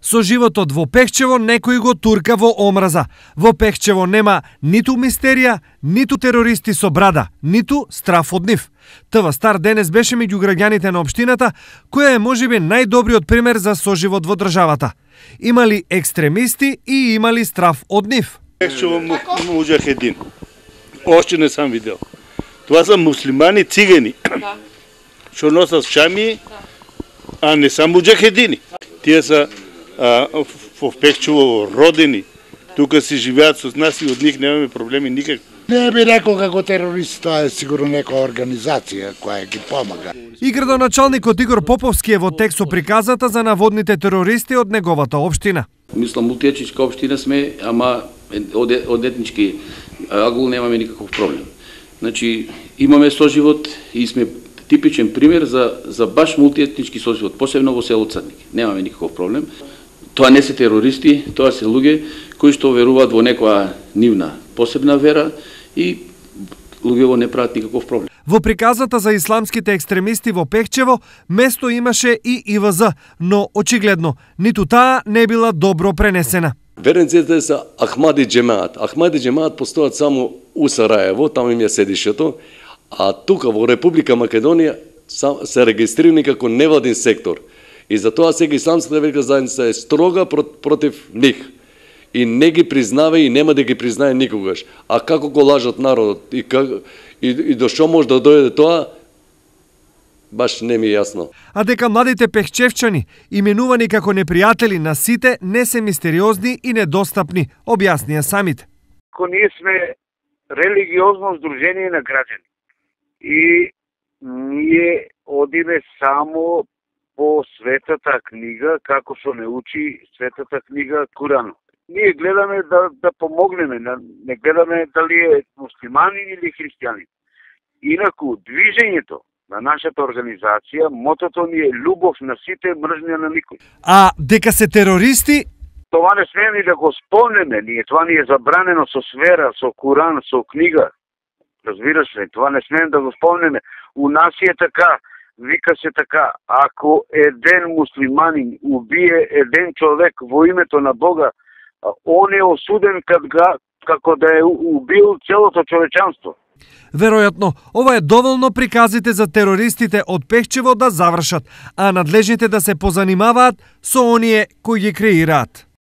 Со животот во Пехчево некој го турка во омраза. Во Пехчево нема ниту мистерија, ниту терористи со брада, ниту страф од нив. ТВ Стар денес беше меѓу граѓаните на општината, која е можеби најдобриот пример за соживот во државата. Имали екстремисти и имали страф од нив. Пехчево муџахедин. Още не сам видел. Това са муслимани цигани. Што носат шами, а не са муџахедини. Тие са во Пехчево родени. Тука си живеат со нас и од нив немаме проблеми никакви. Не би рекол како терорист, тоа е сигурно некоја организација која ги помага. И градоначалникот Игор Поповски е во текст со приказата за наводните терористи од неговата општина. Мислам, мултиетничка општина сме, ама од етнички агул немаме никаков проблем. Значи, имаме соживот и сме типичен пример за баш мултиетнички соживот, посебно во село Црник. Немаме никаков проблем. Тоа не се терористи, тоа се луѓе кои што веруваат во некоја нивна посебна вера и луѓево не прават никаков проблем. Во приказата за исламските екстремисти во Пехчево место имаше и ИВЗ, но очигледно ниту таа не била добро пренесена. Верниците се Ахмади џемаат. Ахмади џемаат постојат само у Сараево, таму им е седишето, а тука во Република Македонија се регистрирани како невладин сектор. И затоа сега исламската верска заедница е строга против нив. И не ги признава и нема да ги признае никогаш. А како го лажат народот и до што може да дојде тоа, баш не ми е јасно. А дека младите пехчевчани, именувани како непријатели на сите, не се мистериозни и недостапни, објаснија самите. Ние сме религиозно здружение на граѓани. И ние одиме само по светата книга, како што не учи светата книга Куран. Ние гледаме да помогнеме, не гледаме дали е муслиманин или христијанин. Инаку, движењето на нашата организација, мотото ни е љубов на сите, мржња на никој. А дека се терористи? Това не смеем и да го спомнеме, това ни е забранено со свера, со Куран, со книга. Разбираш ли, това не смеем да го спомнеме. У нас е така, вика се така, ако еден муслиманин убие еден човек во името на Бога, он е осуден како да е убил целото човечанство. Веројатно, ова е доволно приказите за терористите од Пехчево да завршат, а надлежните да се позанимаваат со оние кои ги креираат.